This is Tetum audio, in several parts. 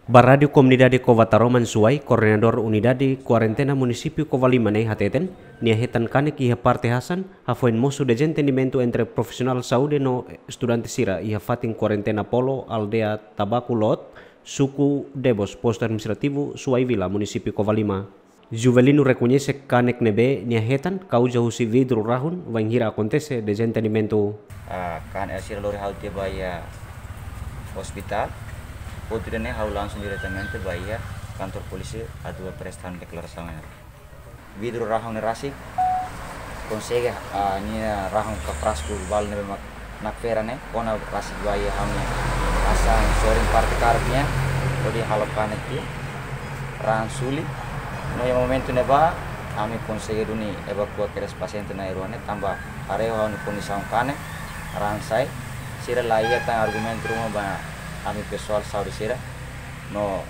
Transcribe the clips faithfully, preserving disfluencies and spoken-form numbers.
Ba Rádiu Komunidade Cova Taroman Suai, Koordenadór Unidade Kuarentena Munisípiu Covalima ne'e hateten, nia hetan kanek iha parte hasan, hafoin mosu dezentendimentu entre profisionál saúde no estudante sira iha fatin kuarentena Polo, aldeia Tabaku Lot, suku Debos, postu administrativu Suai Vila, munisípiu Covalima. Juvelino rekoñese kanek ne'ebé nia hetan kauza husi vidru rahun, bainhira akontese dezentendimentu. Ah, kan el sira lori ha'u tiha ba iha ospitál. Outro dia ne'e ha'u langsung diretamente ba iha kantor polísia atu presta deklarasaun ne'e. Vidru rahun ne'e rasik, konsege, ah, nia rahun ka frasku balu ne'ebé mak nakfera ne'e, kona rasik ba iha ha'u-nia hasan sorin parte karik nian, hodi halo kanek tiha, rahun suli. No iha momentu ne'ebá, ami konsege duni evakua kedas pasiente na'in-rua ne'e, tanba haree ha'u-nia kondisaun kanek, rahun sai, sira la iha tan argumentu ruma ba ami pesoál saúde sira, no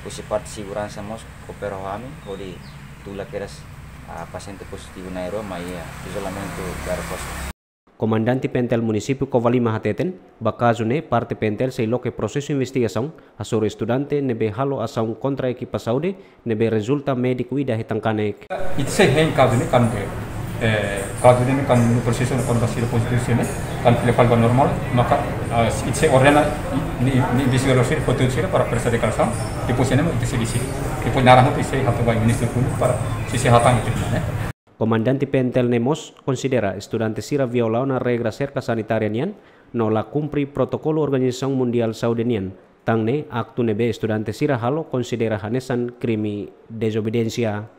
husi parte seguransa mós koopera ho ami, hodi tula kedas, ah, pasiente pozitivu na'in-rua mai iha izolamentu diáriu kosong. Komandante P N T L Munisípiu Covalima hateten, ba kazu ne'e parte P N T L sei loke prosesu investigasaun, hasoru estudante ne'ebé halo asaun kontra ekipa saúde, ne'ebé rezulta médiku ida hetan kanek. Ita sei hein kazu ne'e kan, eh, kazu ne'e kan no prosesu ne'e kan ba sira pozitivu sira ne'e, kan fila fali ba normál, maka, ah, ita sei ordena, ni, ni investigadór sira, foti sira para presta deklarasaun, depois ne'e ita sei deside. Depois naran hotu ita sei hato'o ba Ministériu Públiku para sei, sei hatán ita ne'e. Komandante P N T L ne'e mós konsidera estudante sira viola ona regra serka sanitária nian, no la kumpre protokolu Organizasaun Mundiál Saúde nian. Tan ne'e, aktu ne'ebé estudante sira halo konsidera hanesan krime dezobediénsia.